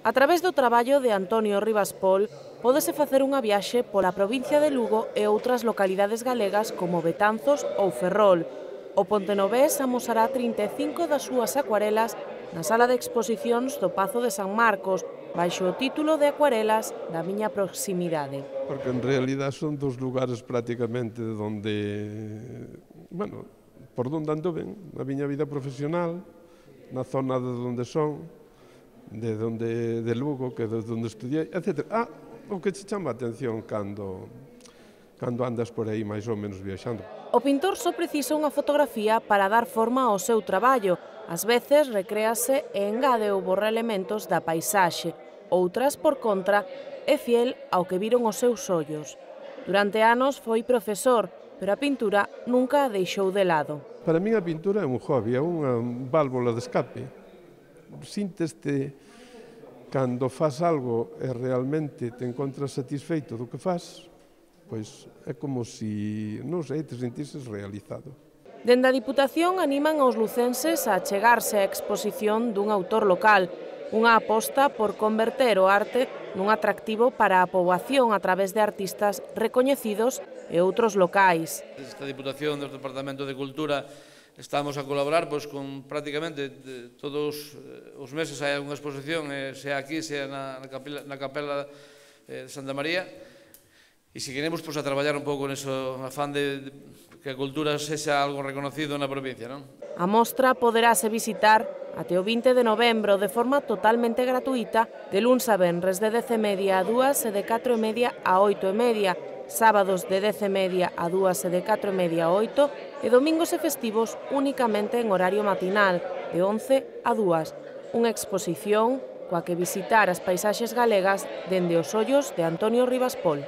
A través do traballo de Antonio Rivas Pol, pódese facer unha viaxe pola provincia de Lugo e outras localidades galegas como Betanzos ou Ferrol. O pontenovés amosará 35 das súas acuarelas na sala de exposicións do Pazo de San Marcos, baixo o título de Acuarelas da miña proximidade. Porque en realidad son dos lugares prácticamente por donde anduven, na miña vida profesional, na zona de onde son, de Lugo, que é onde estudiei, etc. O que te chama a atención cando andas por aí máis ou menos viaxando. O pintor só precisa unha fotografía para dar forma ao seu traballo. Ás veces recréase e engade ou borra elementos da paisaxe. Outras, por contra, é fiel ao que viron os seus ollos. Durante anos foi profesor, pero a pintura nunca a deixou de lado. Para min a pintura é un hobby, é unha válvula de escape. Sínteste cando faz algo e realmente te encontras satisfeito do que faz, pois é como se, non sei, te sentises realizado. Dende a Diputación animan aos lucenses a achegarse á exposición dun autor local, unha aposta por converter o arte nun atractivo para a poboación a través de artistas recoñecidos e outros locais. Esta Diputación do Departamento de Cultura estamos a colaborar con prácticamente todos os meses hai unha exposición, sea aquí, sea na Capela de Santa María, e seguiremos a traballar un pouco neso afán de que a cultura sexa algo reconocido na provincia. A mostra poderase visitar até o 20 de novembro de forma totalmente gratuita, de luns a venres de 10:30 a 2 e de 4:30 a 8:30, sábados de 10:30 a 2 e de 4:30 a 8 e domingos e festivos únicamente en horario matinal, de 11 a 2. Unha exposición coa que visitar as paisaxes galegas dende os ollos de Antonio Rivas Pol.